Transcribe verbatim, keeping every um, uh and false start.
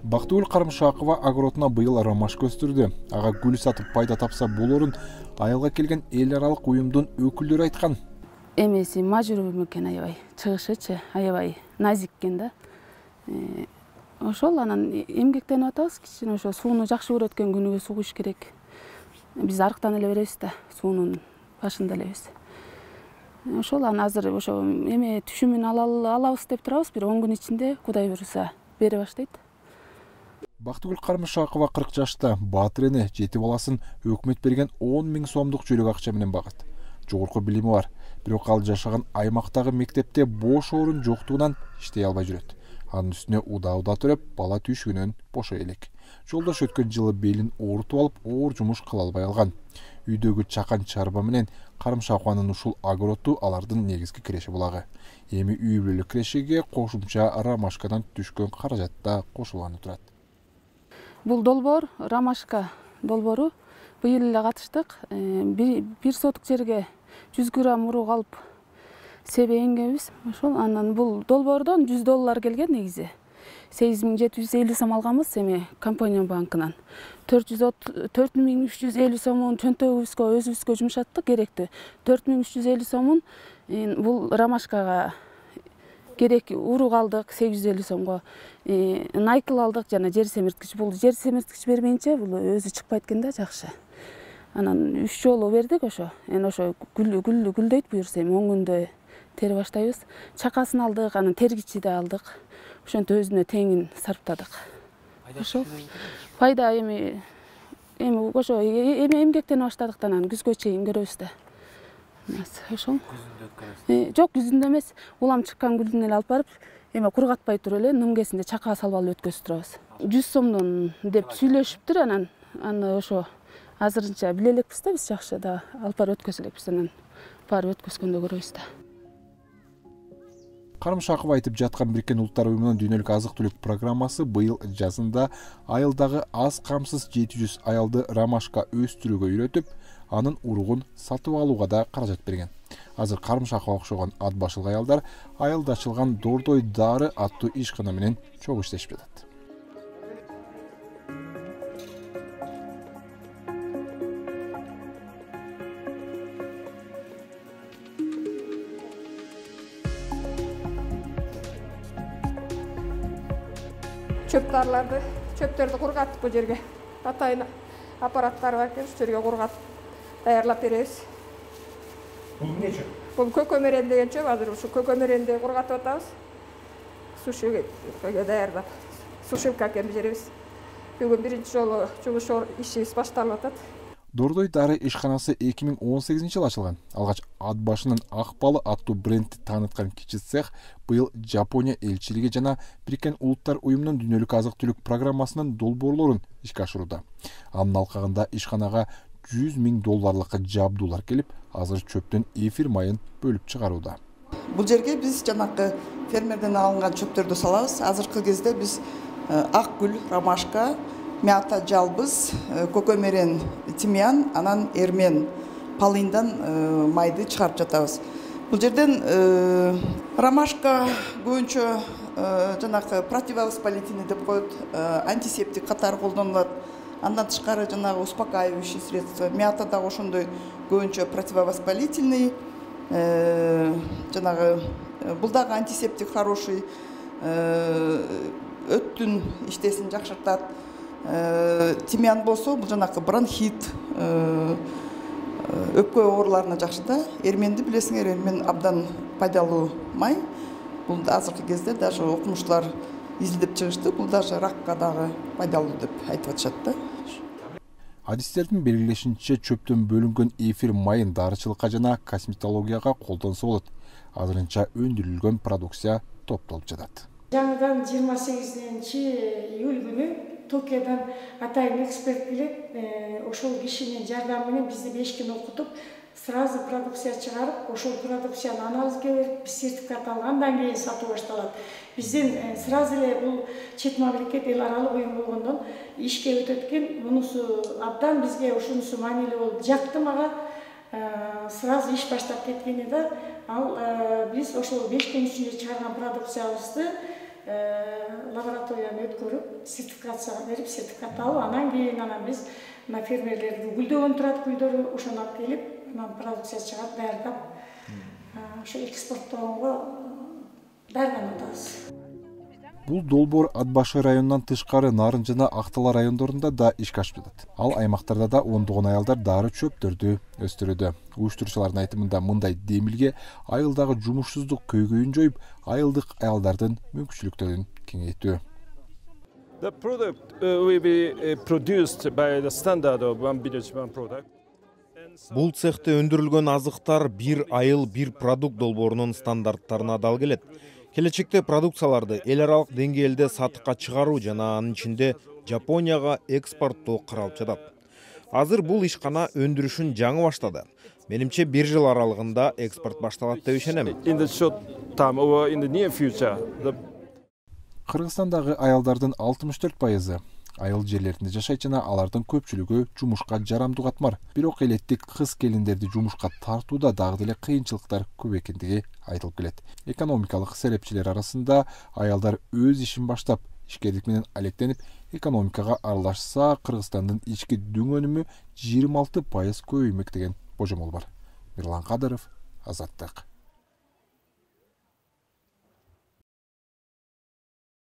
Бактыгүл Карымшакова огородуна быйыл ромашка өстүрдү. Ага гүл сатып пайда тапса болорун айылга келген эл аралык уюмдун өкүлдөрү айткан. Эмеси мажбур экен аябай. Чыгышычы аябай назик экен да. Ошол анан эмгектенип атабыз, кичине ошо сууну жакшы көрөт экен, күнүгө суу куюш керек. Биз арыктан эле беребиз да, суунун башында элебиз. Ошол анан азыр ошо эме түшүмүн алабыз деп турабыз, бир он күн ичинде Кудай буйруса бере баштайт. Бактыгүл Карымшакова кырк жашта, баатыр эне, жети баласын өкмөт берген он миң сомдук жөлөк акча менен багат. Жогорку билими бар, бирок ал жашаган аймактагы мектепте бош орун жоктугунан иштей албай жүрөт. Анын үстүнө удаа-удаа төрөп, бала түйшүгүнөн бошой элек. Жолдош өткөн жылы белин оорутуп алып, оор жумуш кыла албай калган. Үйдөгү чакан чарба менен Карымшакованын ушул огороду алардын негизги киреши булагы. Эми үй бүлөлүк кирешиге кошумча ромашкадан түшкөн каражат да кошулганы турат. Бул долбоор, ромашка долбоору быйыл эле катыштык. Бир сотук жерге жүз грамм урук алып себенгенбиз. Ошол анан бул долбоордон жүз доллар келген негизи. сегиз миң жети жүз элүү сом алганбыз эми компания банкынан. төрт миң үч жүз элүү сомун чөнтөгүбүзгө өзүбүзгө жумшаттык, керектүү. төрт миң үч жүз элүү сомун бул ромашкага керек урук алдык сегиз жүз элүү сомго. Найкл алдык жана жер семирткич. Бул жер семирткич бермейинче бул өзү чыкпайт экен да жакшы. Анан үч жолу бердик ошо. Эми ошо гүл гүл гүлдөйт буюрса эми он күндө тере баштайбыз. Чакасын алдык, анан тергичи да алдык. Ошентип өзүнө теңин сарптадык. Ошо пайда эми эми ошо эми эмгектенип баштадык да анан күзгө чейин көрөбүз да. Ошол. Жок, күзүндө эмес. Улам чыккан гүлдүн эле алып барып, эме кургатпай туруп эле нумкесинде чакага салып алып өткөзүп турабыз. жүз сомдон деп сүйлөшүптүр, анан аны ошо азырынча биле элекпиз да, биз жакшы да алып барып өткөзө элекпиз, анан барып өткөзгөндө көрөбүз да. Карымшакова айтып жаткан Бириккен Улуттар уюмунун дүйнөлүк азык-түлүк программасы быйыл жазында айылдагы аз камсыз жети жүз аялды ромашка өстүрүүгө үйрөтүп, анын уругун сатып алууга да каражат берген. Азыр Карымшакова окшогон ат башылгы аялдар айылда ачылган Дордой Дары аттуу ишкана менен чогуу иштешип жатат. Чөптарларды, чөптөрдү кургатып бул жерге атайын аппараттары бар экен, ушул жерге кургатып даярлап беребиз. Бул эмне чөп? Бул көкөмөрен деген чөп, азыр ушу көкөмөренди кургатып атабыз. Сушилкага даярлап, сушилкага беребиз. Бүгүн биринчи жолу жумуш ишибиз башталып атат. Дордой Дары ишканасы эки миң он сегизинчи жылы ачылган. Алгач ат башынын ак балы аттуу брендти тааныткан кичи цех быйыл Жапония элчилиги жана Бириккен Улуттар уюмунун дүйнөлүк азык-түлүк программасынын долбоорлорун ишке ашырууда. Анын алкагында ишканага жүз миң долларлык жабдуулар келип, азыр чөптөн эфир майын бөлүп чыгарууда. Бул жерге биз жанакы фермерден алынган чөптөрдү салабыз. Азыркы кезде биз ак гүл, ромашка, мята, жалбыз, көкөмөрен, тимьян, анан эрмен, полындан майды чыгарып жатабыз. Бул жерден ромашка көбүнчө жанакы противовоспалительный деп коет, антисептик катары колдонулат. Андан тышкары жанагы успокаивающий средства. Мята да ошондой көбүнчө противовоспалительный, жанагы бул дагы антисептик хороший, өттүн иштесин жакшыртат. Тимьян болсо бул жанакы бронхит, өпкө ооруларына жакшы да. Эрменди билесиңер, эрмен абдан пайдалуу май. Бул азыркы кезде даже окумуштуулар изилдеп чыгышты. Бул даже ракка дагы пайдалуу деп айтып атышат да. Адистердин белгилешинче чөптөн бөлүнгөн эфир майын дарычылыкка жана косметологияга колдонсо болот. Азырынча өндүрүлгөн продукция топтолуп жатат. Жаңыдан жыйырма сегизинчи июль күнү Токиодон атайын эксперт келет. Ошол кишинин жардамы менен бизди беш күн окутуп, сразу продукция чыгарып, ошол продукцияны анализге берип, биз сертификат алгандан кийин сатуу башталат. Биздин сразу эле бул чет мамлекет эл аралык уюм болгондон ишке өтөт экен. Мунусу абдан бизге ушунусу маанилүү болуп жакты мага. Сразу иш баштап кеткени да, ал биз ошол беш күн ичинде чыгарган продукциябызды лабораторияны өткөрүп сертификацияга берип сертификат алып анан кийин анан биз мына фермерлердин гүлдөгөн турат гүлдөрү ошону алып келип анан продукция чыгарып даярдап ошо экспорттоого даярданып атабыз. Бул долбоор Ат башы районунан тышкары Нарын жана Актала райондорунда да ишке ашып жатат. Ал аймактарда да ондогон аялдар дары чөптөрдү өстүрүүдө. Уюштуруучулардын айтымында мындай демилге айылдагы жумушсуздук көйгөйүн жоюп, айылдык аялдардын мүмкүнчүлүктөрүн кеңейтүү. The product uh, will be uh, produced by the standard of one village one product. Бул цехте өндүрүлгөн азыктар бир айыл бир продукт долбоорунун стандарттарына дал келет. Келечекте продукцияларды эл аралык деңгээлде сатыкка чыгаруу жана анын ичинде Жапонияга экспорттоо каралып жатат. Азыр бул ишкана өндүрүшүн жаңы баштады. Менимче бир жыл аралыгында экспорт башталат деп ишенем. In the short term or in the near future, the Кыргызстандагы аялдардын алтымыш төрт пайызы айыл жерлеринде жашайт жана алардын көпчүлүгү жумушка жарамдуу катмар. Бирок элеттик кыз келиндерди жумушка тартууда дагы деле кыйынчылыктар көп экендиги айтылып келет. Экономикалык серепчилер арасында аялдар өз ишин баштап, ишкерлик менен алектенип, экономикага аралашса, Кыргызстандын ички дүң өнүмү жыйырма алты пайыз көбөймөк деген божомол бар. Мирлан Кадыров, Азаттык.